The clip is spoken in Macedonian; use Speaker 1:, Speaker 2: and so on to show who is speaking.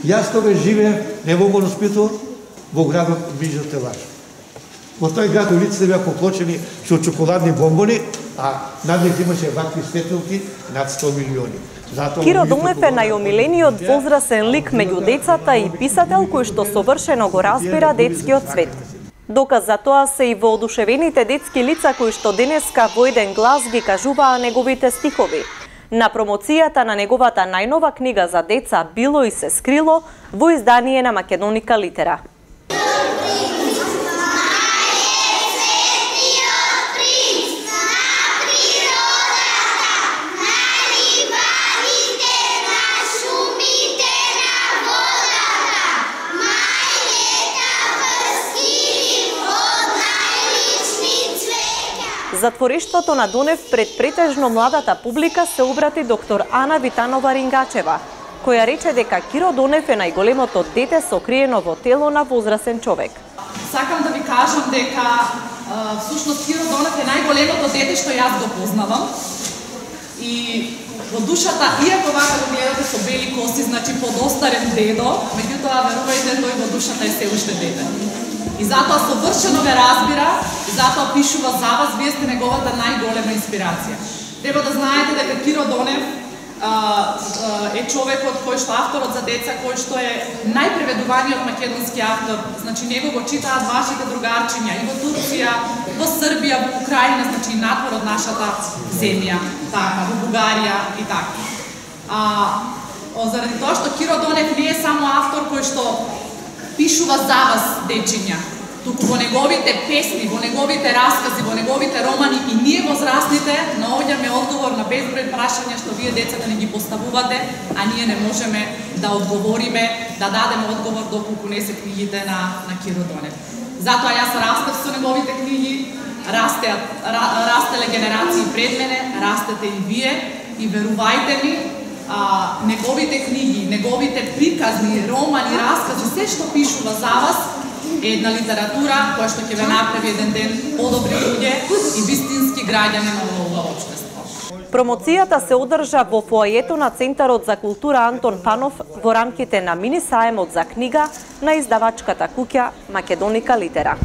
Speaker 1: Јас тогаш живеев не во Гороспиту, во градот Мижо Телаш. Во тој град улиците беа поклучени со чоколадни бомбони, а над них имаше вакви светилки над 100 милиони.
Speaker 2: Киро Донев е најомилениот возрасен лик меѓу децата и писател кој што совршено го разбира детскиот свет. Доказ за тоа се и воодушевените детски лица кои што денеска во еден глас ги кажуваа неговите стихови. На промоцијата на неговата најнова книга за деца Било и се скрило во издание на Македоника Литера. Затворештвото на Донев пред претежно младата публика се обрати доктор Ана Витанова Рингачева, која рече дека Киро Донев е најголемото дете сокриено во тело на возрасен човек.
Speaker 3: Сакам да ви кажам дека всушност Киро Донев е најголемото дете што јас го познавам. И во душата, иако вака го гледате со бели коси, значи подостарен дедо, меѓутоа верувајте, тој во душата е се уште дете. И затоа совршено ве разбира, и затоа пишува за вас, вие сте неговата најголема инспирација. Треба да знаете дека Киро Донев е човекот кој што авторот за деца, кој што е најпреведуваниот македонски автор. Значи него го читаат вашите другарчиња и во Турција, во Србија, во Украина, значи надвор од нашата земја, така, во Бугарија и така. Заради тоа што Киро Донев не е само автор кој што пишува за вас, дечиња, туку во неговите песни, во неговите раскази, во неговите романи и ние возрастните наоѓаме одговор на безброј прашања што вие децата не ги поставувате, а ние не можеме да одговориме, да дадеме одговор доколку не се книгите на Киро Донев. Затоа јас растев со неговите книги, растеле генерации пред мене, растете и вие и верувајте ми, неговите книги, неговите приказни, романи, раскази, се што пишува за вас е една литература која што ќе ве направи еден ден подобри луѓе и вистински граѓани на ова општество.
Speaker 2: Промоцијата се одржа во фоајето на Центарот за култура Антон Панов во рамките на мини саемот за книга на издавачката куќа Македоника Литера.